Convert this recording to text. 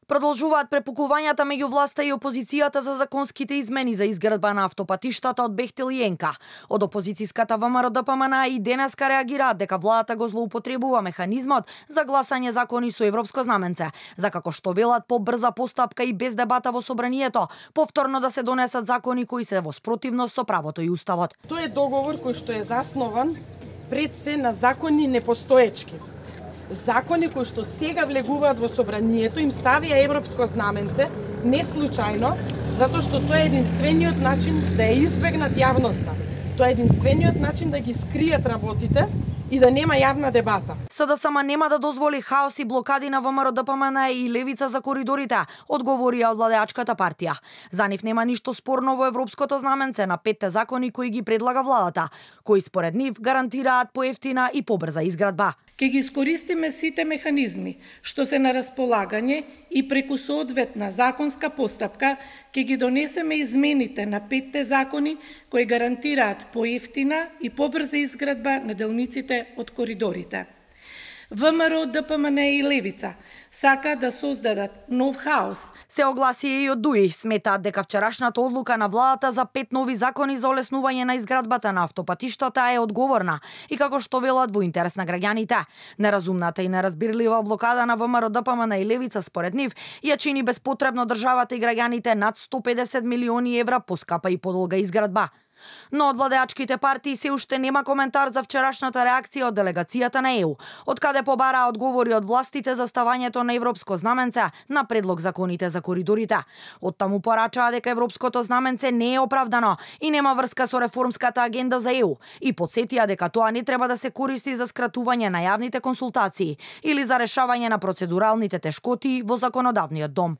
Продолжуваат препукувањата меѓу власта и опозицијата за законските измени за изградба на автопатиштата од Бехтел и Енка. Од опозицијската ВМРО-ДПМН и денеска реагираат дека владата го злоупотребува механизмот за гласање закони со европско знаменце, за како што велат побрза постапка и без дебата во собранието, повторно да се донесат закони кои се во спротивност со правото и уставот. Тој е договор кој што е заснован пред се на закони непостоечки. Закони кои што сега влегуваат во собранието им ставија европско знаменце, не случајно, затоа што тоа е единствениот начин да ја избегнат јавноста. Тоа е единствениот начин да ги скријат работите и да нема јавна дебата. СДСМ нема да дозволи хаос и блокади на ВМРО-ДПМН и левица за коридорите, одговорија од владеачката партија. За нив нема ништо спорно во европското знаменце на 5 закони кои ги предлага владата, кои според нив гарантираат поевтина и побрза изградба. Ке ги искористиме сите механизми што се на располагање и преку соодветна законска постапка ке ги донесеме измените на 5 закони кои гарантираат поевтина и побрза изградба на делниците од коридорите. ВМРО, ДПМН и левица сака да создадат нов хаос. Се огласи и од ДУИ, сметаат дека вчерашната одлука на владата за 5 нови закони за олеснување на изградбата на автопатиштата е одговорна и како што велат во интерес на граѓаните. Неразумната и неразбирлива блокада на ВМРО, ДПМН и левица според нив ја чини безпотребно државата и граѓаните над 150 милиони евра поскапа и подолга изградба. Но од владеачките партии се уште нема коментар за вчерашната реакција од делегацијата на ЕУ, од каде побараа одговори од властите за ставањето на европско знаменце на предлог законите за коридорите. Од таму порачаа дека европското знаменце не е оправдано и нема врска со реформската агенда за ЕУ и потсетија дека тоа не треба да се користи за скратување на јавните консултации или за решавање на процедуралните тешкоти во законодавниот дом.